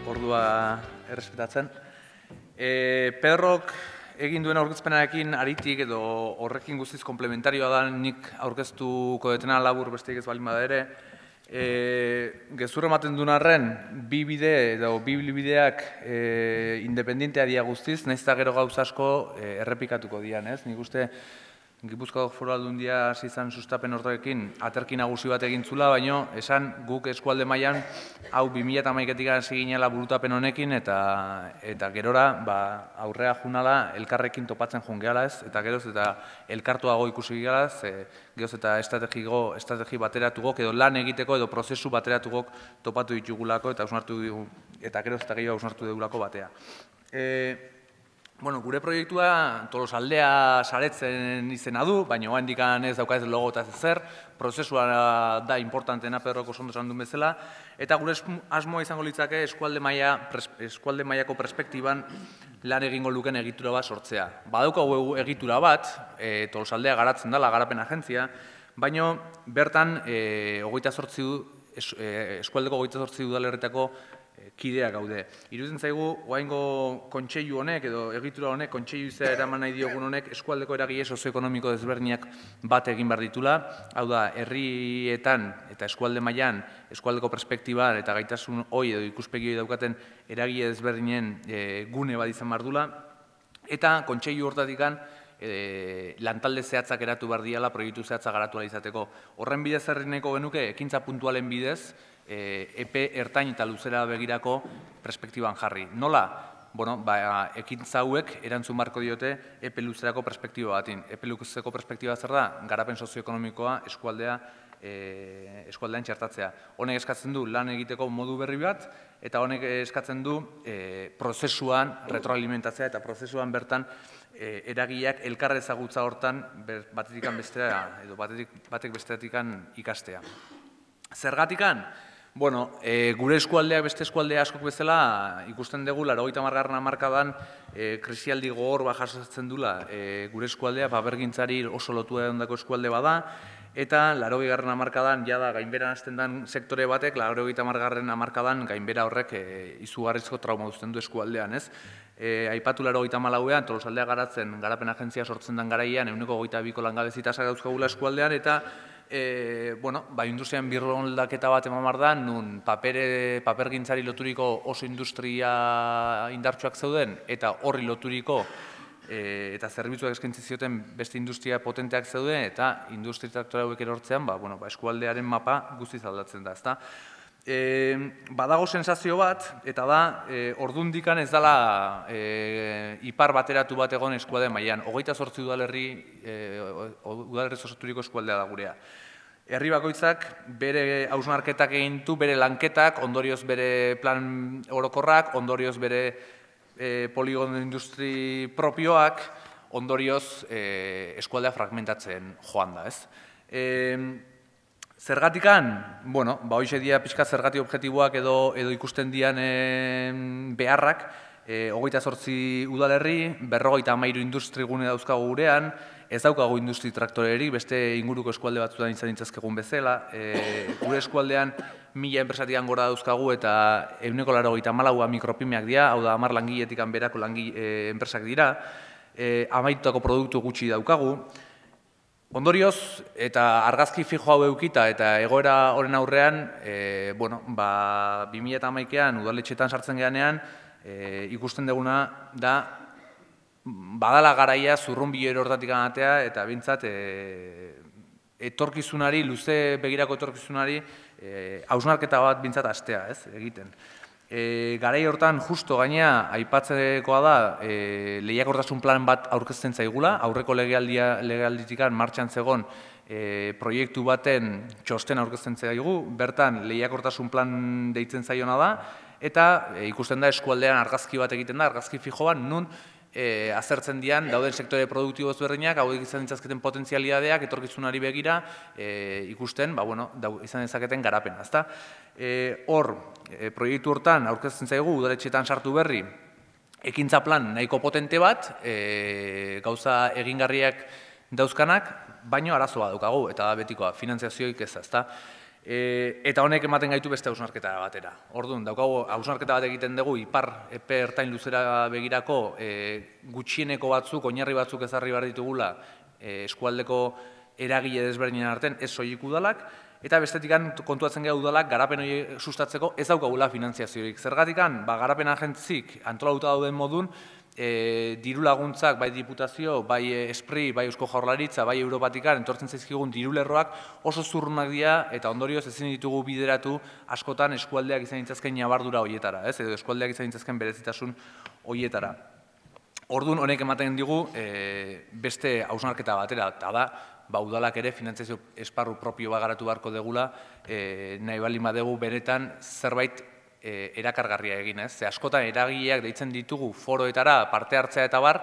ordua errespetatzen. Pedrok egin duen aurkezpenarekin aritik edo horrekin guztiz komplementarioa da nik aurkeztuko detena labur besteik ez balin bada ere. Gezurra ematen duen arren, bi bide edo bi bideak independentea dira guztiz, nahiz eta gero gauza asko errepikatuko dian, ez? Nik uste Gipuzkoako Foru Aldundia hasi izan sustapen horrekin aterki nagusi bat egin zula, baina esan guk eskualde mailan hau 2011etik hasi ginela burutapen honekin eta gerora aurrea junala elkarrekin topatzen joan gehala ez, eta geroz eta elkartuago ikusi gehala ez, geroz eta estrategi bateratugok edo lan egiteko edo prozesu bateratugok topatu ditugulako eta geroz eta gehiago hausnartu dugulako batea. Gure proiektua Tolosaldea saretzen izena du, baina oraindik ez dauka ez logo eta zer, prozesua da importanteena Pedrok oso ondo esan duen bezala, eta gure asmoa izango litzake eskualde mailako perspektiban lan egingo luken egitura bat sortzea. Badaukagu egitura bat, Tolosaldea garatzen dela, garapen agentzia, baina bertan eskualdeko 28 udalerritako kidea gaude. Iruditzen zaigu, oraingo kontseilu honek edo egitura honek, kontseilu izea eraman nahi diogun honek eskualdeko eragile sozioekonomiko desberdinak bat egin behar ditula. Hau da, herrietan eta eskualde mailan, eskualdeko perspektiban eta gaitasun hori edo ikuspegi daukaten eragile desberdinen gune bat izan behar dula. Eta kontseilu hortatikan lantalde zehatzak eratu behar diala, proiektu zehatzak garatu ahal izateko. Horren bidez errineko genuke, ekintza puntualen bidez, epe ertain eta luzera begirako perspektiban jarri. Nola? Ekintza hauek erantzun beharko diote epe luzerako perspektiba batin. Epe luzerako perspektiba zer da? Garapen sozioekonomikoa eskualdean txertatzea. Honek eskatzen du lan egiteko modu berri bat, eta honek eskatzen du prozesuan retroalimentatzea eta prozesuan bertan eragileak elkar ezagutza hortan batetik bestera edo batek bestetik ikastea. Zergatikan? Gure eskualdeak beste eskualdea askok bezala ikusten dugu 80. hamarkadan krisialdi gogor bat jasotzen dula gure eskualdea papergintzari oso lotua egondako eskualde bada, eta 80. hamarkadan jada gainberan hasten den sektore batek 80. hamarkadan gainbera horrek izugarrizko trauma uzten du eskualdean, ez? Aipatu 84ean Tolosaldea garatzen garapen agentzia sortzen den garaian 22ko langabezi tasa dauzkagula eskualdean, eta industrian birroldaketa bat eman behar da, nun papergintzari loturiko oso industria indartsuak zeuden, eta horri loturiko eta zerbitzuak eskaintzi zioten beste industria potenteak zeuden, eta industri traktora hauek erortzean, eskualdearen mapa guztiz aldatzen da, ezta? Badago sensazio bat, eta da, ordundikan ez dela ipar bateratu bat egon eskualde mailan. 28 udalerri osaturiko eskualdea da gurea. Herri bakoitzak bere hausnarketak egin du, bere lanketak, ondorioz bere plan orokorrak, ondorioz bere poligono industri propioak, ondorioz eskualdea fragmentatzen joan da, ez? Zergatikan, hoxe dira pixka zergati objektiboak edo ikusten dian beharrak, 28 udalerri, 53 industri gune dauzkagu gurean, ez daukagu industri traktorerik, beste inguruko eskualde batzutan izan dintzazkegun bezala, gure eskualdean 1000 enpresatikan gora dauzkagu eta 94 mikropimeak dira, hau da 10 langiletik berako enpresak dira, amaitutako produktu gutxi daukagu. Ondorioz, eta argazki fijo hau eukita eta egoera horren aurrean, 2011ean udaletxetan sartzen geanean, ikusten duguna da, badala garaia zurrunbilo hortatik anatea eta bintzat etorkizunari, luze begirako etorkizunari, hausnarketa bat bintzat astea, ez, egiten. Garai hortan justo gainea aipatzekoa da lehiakortasun plan bat aurkezten zaigula, aurreko legealditikan martxan zegon proiektu baten txosten aurkezten zaigu, bertan lehiakortasun plan deitzen zaiona da, eta ikusten da eskualdean argazki bat egiten da, argazki fijoan, nun azertzen dian dauden sektore produktibo ezberdinak, hauek izan ditzazketen potentzialidadeak, etorkizunari begira, ikusten, izan dezaketen garapena, ezta? Hor, proiektu hortan aurkezten zaigu, udaletxetan sartu berri, ekintza plan nahiko potente bat, gauza egingarriak dauzkanak, baino arazoa daukagu, eta da betikoa, finantziazioik ez, ezta? Eta honek ematen gaitu beste hausnarketa batera. Orduan, daukagu hausnarketa bat egiten dugu ipar epe ertain luzera begirako gutxieneko batzuk, oinarri batzuk ezarri behar ditugula eskualdeko eragile desberdinen artean, ez soilik udalak, eta bestetikan kontuatzen gara udalak garapen hori sustatzeko ez daukagula finanziaziorik. Zergatikan, garapen agentzik antolatuta dauden modun, diru laguntzak, bai diputazio, bai espri, bai eusko jaurlaritza, bai europatikan, entortzen zaizkigun diru lerroak oso zurrunak dira eta ondorioz ezin ditugu bideratu askotan eskualdeak izan ditzazken nabardura horietara, edo eskualdeak izan ditzazken berezitasun horietara. Orduan honek ematen digu beste hausnarketa batera, eta da, udalak ere finantzazio esparru propio bat garatu beharko degula, nahi baldin badegu benetan zerbait erakargarria egin, ez? Ze askotan eragileak deitzen ditugu foroetara parte hartzea eta bar,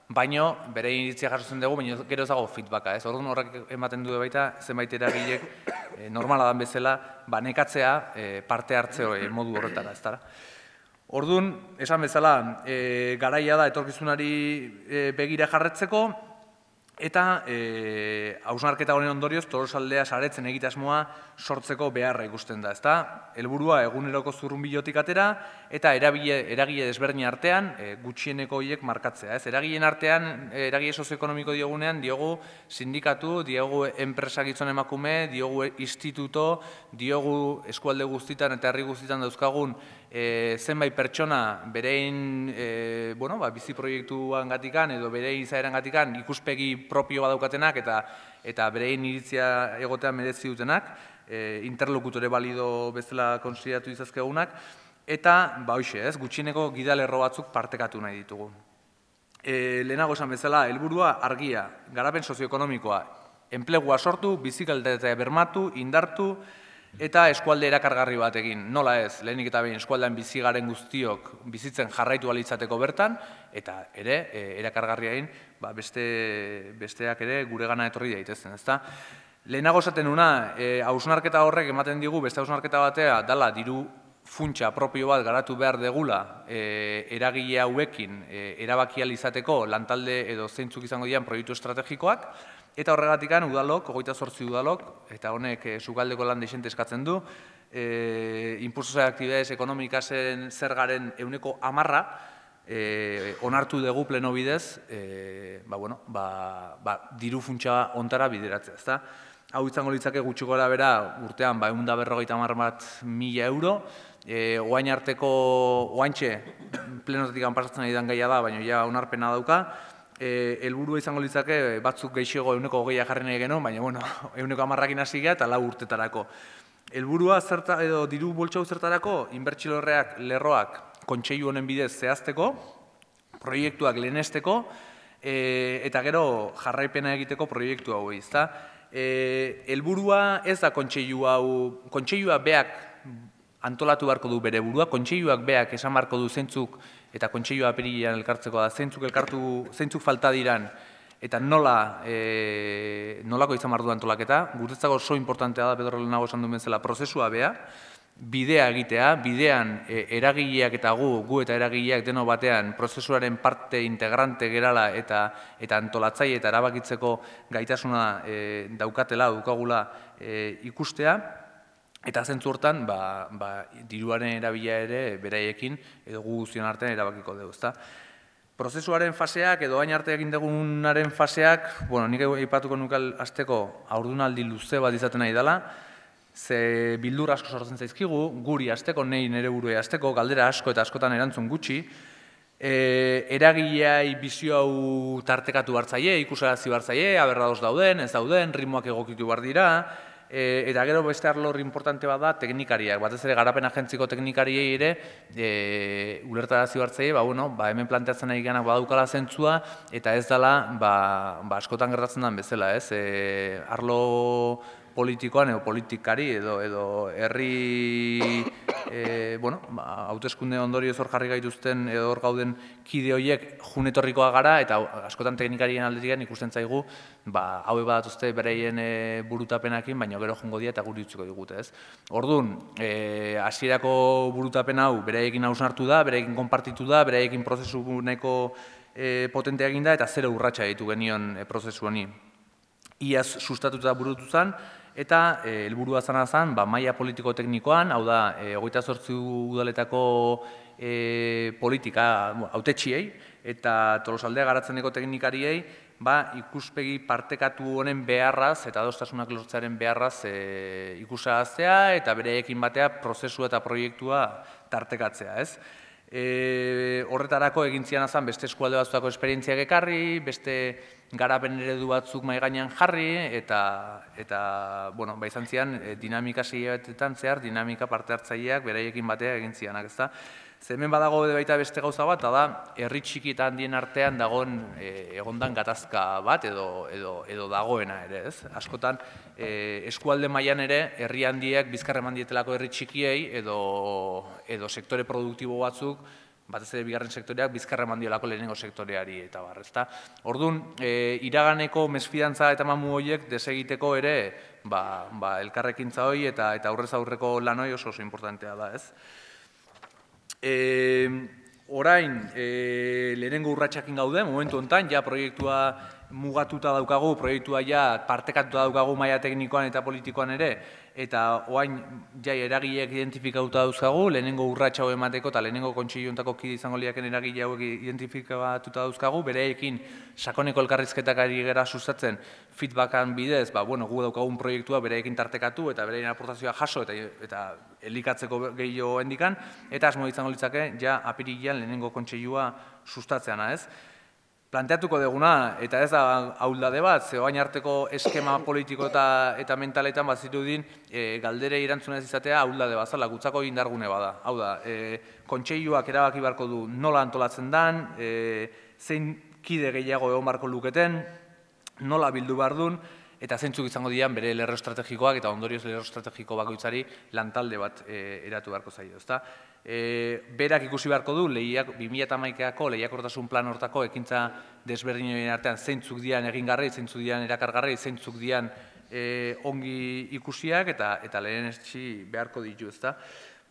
baino bere iritzia jasotzen dugu, baina gero ez dago feedbacka, ez? Orduan horrek ematen du baita zenbait eragileek normala dan bezala nekatzea parte hartze modu horretara, ez dara. Orduan, esan bezala, garaia da etorkizunari begira jarretzeko, eta hausnarketa honen ondorioz Tolosaldea saretzen egitasmoa sortzeko beharra ikusten da, ezta? Helburua eguneroko zurrunbilotik atera eta eragile desberdin artean gutxieneko horiek markatzea, ez? Eragileen artean, eragile sozioekonomiko diogunean, diogu sindikatu, diogu enpresa gizon emakume, diogu instituto, diogu eskualde guztitan eta herri guztitan dauzkagun zenbait pertsona berein bizi proiektuan gatikan edo berein izaeran gatikan ikuspegi propio badaukatenak eta berein iritzia egotean merezi dutenak, interlokutore balido bezala konsideratu izazkegunak, eta, hoxe, gutxieneko gidalerro batzuk partekatu nahi ditugu. Lehenago esan bezala, helburua argia, garapen sozioekonomikoa, enplegua sortu, bizikalitatea bermatu, indartu, eta eskualde erakargarri bat egin. Nola ez, lehenik eta behin eskualdean bizi garen guztiok bizitzen jarraitu alitzateko bertan, eta ere, erakargarria egin, besteak ere gure gana etorri daitezen, ezta? Lehenago esaten nuna, hausnarketa horrek ematen digu, beste hausnarketa batea, dala diru funtsa propio bat garatu behar degula eragile hauekin erabaki ahal izateko lantalde edo zeintzuk izango dian proiektu estrategikoak, eta horregatikan udalok, 28 udalok, eta honek sukaldeko lan deixente eskatzen du, impulso de actividades ekonomikasen zergaren 10% onartu dugu pleno bidez, diru funtsa ontara bideratzea, ezta? Hau izango litzake gutxi gora bera urtean 150.000 euro, oain arteko, oaintxe plenotetik pasatzen ari den gaia da, baina ja onarpena dauka, helburua izango litzake batzuk gehiago 20% jarri nahi genuen, baina 110%ekin hasi gara eta 4 urtetarako. Helburua edo diru boltxau zertarako, inbertsio lerroak kontseilu honen bidez zehazteko, proiektuak lehenesteko, eta gero jarraipena egiteko proiektu hau ezta. Helburua ez da kontseilua beak antolatu beharko du bere burua, kontseiluak beak esan beharko du zeintzuk eta kontseilua apirilean elkartzeko da, zeintzuk falta diran eta nolako izan behar du antolaketa. Guretzako oso importantea da, Pedro lehenago esan duen bezala, prozesua bea, bidea egitea, bidean eragileak eta gu eta eragileak deno batean prozesuaren parte integrante gerala eta antolatzaile eta erabakitzeko gaitasuna daukagula ikustea, eta zentzu hortan diruaren erabila ere beraiekin edo gu guztion artean erabakiko dugu, ezta? Prozesuaren faseak edo hain arte egin dugunaren faseak, nik aipatuko nukal hasteko haurdunaldi luze bat izaten nahi dela, ze bildur asko sortzen zaizkigu, guri hasteko, nire buruei hasteko, galdera asko eta askotan erantzun gutxi, eragileai bizio hau tartekatu hartzaile, ikusarazi hartzaile, aberradoz dauden, ez dauden, ritmoak egokitu behar dira, eta gero beste arlo importante bat da teknikariak, batez ere garapen agentziko teknikariei ere ulertarazi hartzaile, hemen planteatzen nahi ganak badaukala zentzua, eta ez dela askotan gertatzen den bezala, ez? Arlo politikoan edo politikari edo herri hauteskunde ondorioz hor jarri gaituzten edo hor gauden kide horiek junetorrikoa gara eta askotan teknikarien aldetik ikusten zaigu haue badatuzte bereien burutapenakin, baina gero jongo dira eta guri utziko digute, ez? Orduan, hasierako burutapen hau beraiekin hausnartu da, beraiekin konpartitu da, beraiekin prozesu nahiko potentea egin da eta 0 urratsa ditu genion prozesu honi. Iaz sustatuta burutu zen, eta helburua zen maila politiko-teknikoan, hau da, 28 udaletako politika hautetxiei eta Tolosaldea garatzen teknikariei ikuspegi partekatu honen beharraz eta adostasunak lortzearen beharraz ikusahaztea eta bereekin batea prozesua eta proiektua tartekatzea, ez? Horretarako egin zian azan beste eskualde batzutako esperientziak ekarri, beste garapen eredu batzuk mahai gainean jarri, eta izan zian dinamika seiabetetan zehar, dinamika parte hartzaileak beraiekin batea egin zianak, ezta? Hemen badago baita beste gauza bat, eta da, herri txiki eta handien artean dagoen egondan gatazka bat edo dagoena ere, ez? Askotan, eskualde mailan ere, herri handiek bizkar eman dietelako herri txikiei edo sektore produktibo batzuk, batez ere bigarren sektoreak bizkar eman diolako lehenengo sektoreari eta bar, ezta? Orduan, iraganeko mesfidantza eta mamu horiek desegiteko ere, elkarrekintza hori eta aurrez aurreko lan hori oso importantea da, ez? Orain, lehenengo urratsakin gaude, momentu honetan, ja proiektua mugatuta daukagu, proiektua ja partekatuta daukagu maila teknikoan eta politikoan ere, eta orain ja eragileak identifikatuta dauzkagu, lehenengo urratsa hau emateko eta lehenengo kontseilu honetako kide izango lirakeen eragile hauek identifikatuta dauzkagu, bereekin sakoneko elkarrizketak ari gara sustatzen feedbackan bidez, gu daukagun proiektua bereekin tartekatu eta bereien aportazioa jaso eta elikatzeko gehiago hendikan, eta asmo izango litzake ja apirilean lehenengo kontseilua sustatzeana, ez? Planteatuko duguna, eta ez da ahuldade bat, ze orain arteko eskema politiko eta mentaletan bazirudin galdere erantzuna ez izatea ahuldade bat, zala, gutzako indargune bada. Hau da, kontseiluak erabaki beharko du nola antolatzen dan, zein kide gehiago egon beharko luketen, nola bildu behar duen, eta zeintzuk izango dian bere lerro estrategikoak eta ondorioz lerro estrategiko bakoitzari lantalde bat eratu beharko zaio, ezta? Berak ikusi beharko du 2011ko lehiakortasun plan hortako ekintza desberdinen artean zeintzuk dian egingarri, zeintzuk dian erakargarri, zeintzuk dian ongi ikusiak eta lehenetsi beharko ditu, ezta?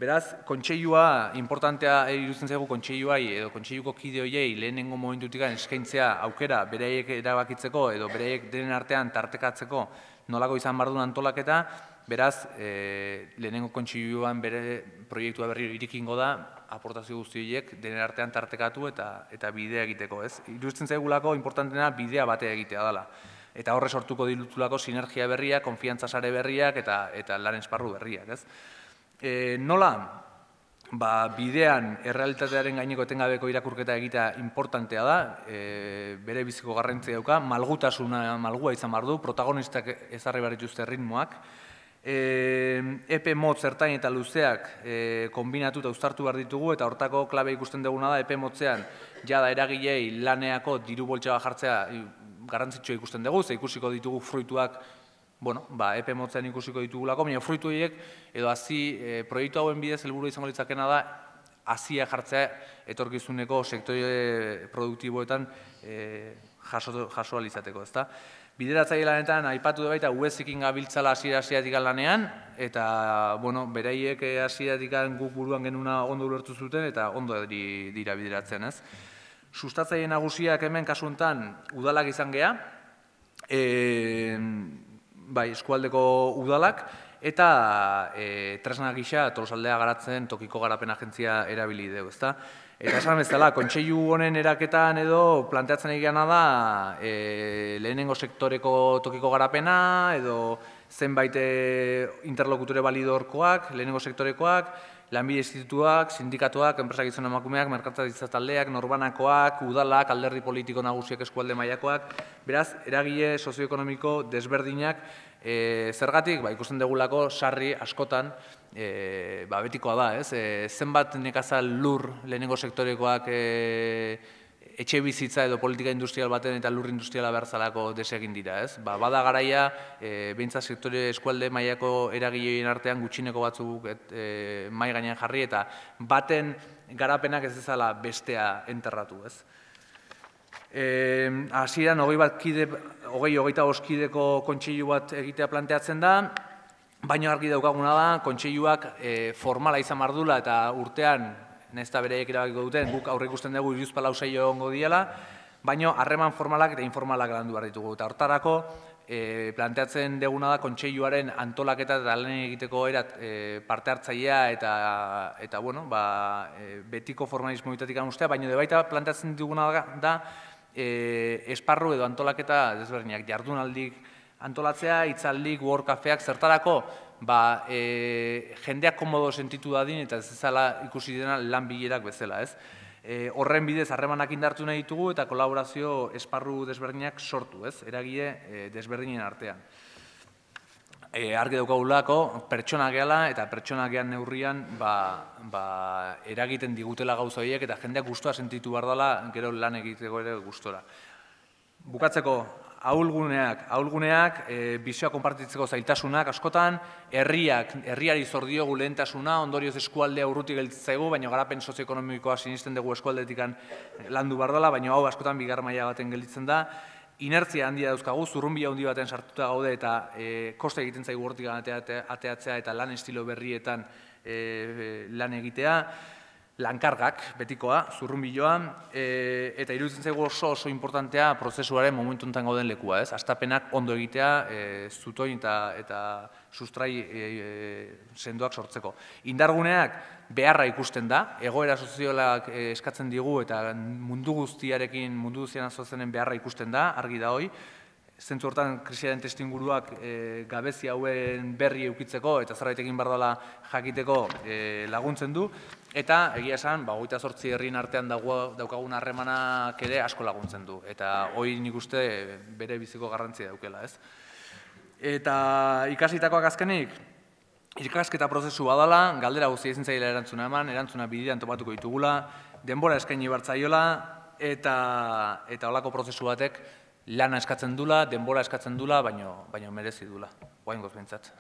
Beraz, kontseilua, importantea iruditzen zaigu kontseiluai edo kontseiluko kide horiei lehenengo momentutik eskaintzea aukera beraiek erabakitzeko edo beraiek denen artean tartekatzeko nolako izan behar duen antolaketa, beraz, lehenengo kontseiluan bere proiektua berri irikingo da, aportazio guzti horiek denen artean tartekatu eta bidea egiteko, ez? Iruditzen zaigulako importantena bidea batea egitea dela. Eta horre sortuko dilutulako sinergia berriak, konfiantza sare berriak eta lan esparru berriak, ez? Nola, bidean errealitatearen gaineko etengabeko irakurketa egitea importantea da, bere biziko garrantzia dauka, malgua izan behar du, protagonistak ezarri behar dituzte ritmoak, epe motz ertain eta luzeak kombinatu eta uztartu behar ditugu, eta hortako klabe ikusten duguna da, epe motzean jada eragilei laneako diru boltsa jartzea garrantzitsua ikusten dugu, ze ikusiko ditugu fruituak epe motzean ikusiko ditugulako, baina fruitu horiek edo proiektu hauen bidez helburu izango litzakena da hazia jartzea etorkizuneko sektore produktiboetan jaso alizateko, ezta? Bideratzaile lanetan aipatu da baita UESekin gabiltzala hasieratik lanean eta beraiek hasieratik guk buruan genuna ondo ulertu zuten eta ondo dira bideratzen, ez? Sustatzaile nagusiak hemen kasu honetan udalak izan gea, eskualdeko udalak, eta tresna gisa Tolosaldea garatzen tokiko garapen agentzia erabili dugu, ezta? Eta esan bezala, kontseilu honen eraketan edo planteatzen egiana da lehenengo sektoreko tokiko garapena edo zenbait interlokutore balidorkoak, lehenengo sektorekoak, lanbide institutuak, sindikatuak, enpresak gizon emakumeak, merkataritza taldeak, norbanakoak, udalak, alderdi politiko nagusiak eskualde mailakoak, beraz, eragile sozioekonomiko desberdinak, zergatik, ikusten degulako sarri askotan, betikoa da, ez? Zenbat nekazal lur lehenengo sektorekoak etxe bizitza edo politika industrial baten eta lur industriala behar zalako desegin dira, ez? Bada garaia, behintzat sektore eskualde mailako eragileien artean gutxineko batzuk mai gainean jarri eta baten garapenak ez dezala bestea enterratu, ez? Hasieran 25 kideko kontseilu bat egitea planteatzen da, baina argi daukaguna da, kontseiluak formala izan behar duela eta urtean, nahiz eta bereiek erabakiko duten, guk aurre ikusten dugu 14 egongo diela, baina harreman formalak eta informalak landu behar ditugu. Eta hortarako, planteatzen deguna da kontseiluaren antolaketa eta lan egiteko parte hartzailea eta betiko formalismoetatik ustea, baina baita planteatzen duguna da esparru edo antolaketa desberdinak, jardunaldik antolatzea, hitzaldik, workcafeak, zertarako jendeak komodo sentitu dadin eta ez ezala ikusi dena lan bilerak bezala, ez? Horren bidez harremanak indartu nahi ditugu eta kolaborazio esparru desberdinak sortu, ez? Eragile desberdinen artean. Argi daukagulako, pertsonak gehala eta pertsonak gehan neurrian eragiten digutela gauza horiek eta jendeak gustua sentitu behar dela gero lan egiteko ere gustora. Bukatzeko, ahulguneak, bizioa konpartitzeko zailtasunak askotan, herriari zor diogu lehentasuna, ondorioz eskualdea urrutik gelditzaigu, baina garapen sozioekonomikoa sinisten dugu eskualdetik landu behar dela, baina hau askotan bigar maila baten gelditzen da. Inertzia handia dauzkagu, zurrunbila handi baten sartuta gaude eta koste egiten zaigu hortik ateatzea eta lan estilo berrietan lan egitea. Lankargak, betikoa, zurrunbiloa, eta iruditzen zaigu oso importantea prozesuaren momentu enten gauden lekua, ez? Hastapenak ondo egitea, zutoin eta sustrai sendoak sortzeko. Indarguneak beharra ikusten da, egoera soziolak eskatzen digu eta mundu guztian azozenen beharra ikusten da, argi da hoi. Zentzu hortan krisiaren testuinguruak gabezi hauen berri eukitzeko eta zerbait egin behar dela jakiteko laguntzen du. Eta egia esan, 28 herrien artean daukagun harremanak ere asko laguntzen du. Eta hori nik uste bere biziko garrantzia daukela, ez? Eta ikasitakoak azkenik, ikasketa prozesu badala, galdera guzti ezin zaila erantzuna eman, erantzuna bidean topatuko ditugula, denbora eskaini bertzaiola, eta holako prozesu batek lana eskatzen dula, denbora eskatzen dula, baino merezi dula. Oraingoz behintzat.